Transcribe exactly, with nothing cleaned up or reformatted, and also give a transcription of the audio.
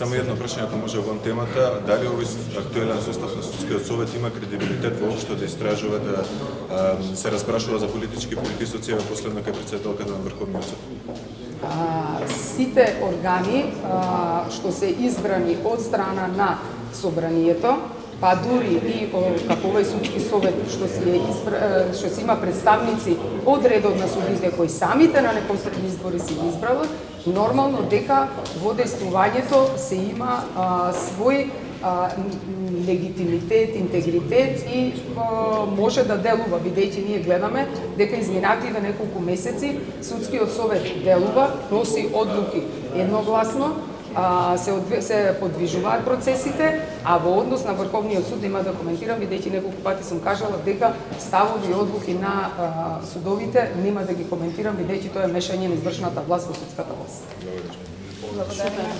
Само едно прашање, ако може во темата, дали овој актуелен состав на Судскиот совет има кредибилитет воопшто да истражува, да а, се распрашува за политички притисоци, а последно кај претседателката на Врховниот суд? А, сите органи а, што се избрани од страна на собранието, па дури и како овој судски совет што си е избра, што си има представници од редот на судите кои самите на непосредни избори се избрали, нормално дека во действувањето се има а, свој а, легитимитет, интегритет и а, може да делува, бидејќи ние гледаме дека изминативе неколку месеци судскиот совет делува, носи одлуки едногласно, а, се, одве, се подвижуваат процесите, а во однос на Врховниот суд нема да коментирам, бидејќи неколку пати сум кажала дека ставови и одлуки на а, судовите нема да ги коментирам, бидејќи тоа е мешање на извршната власт во судската власт. Благодарам.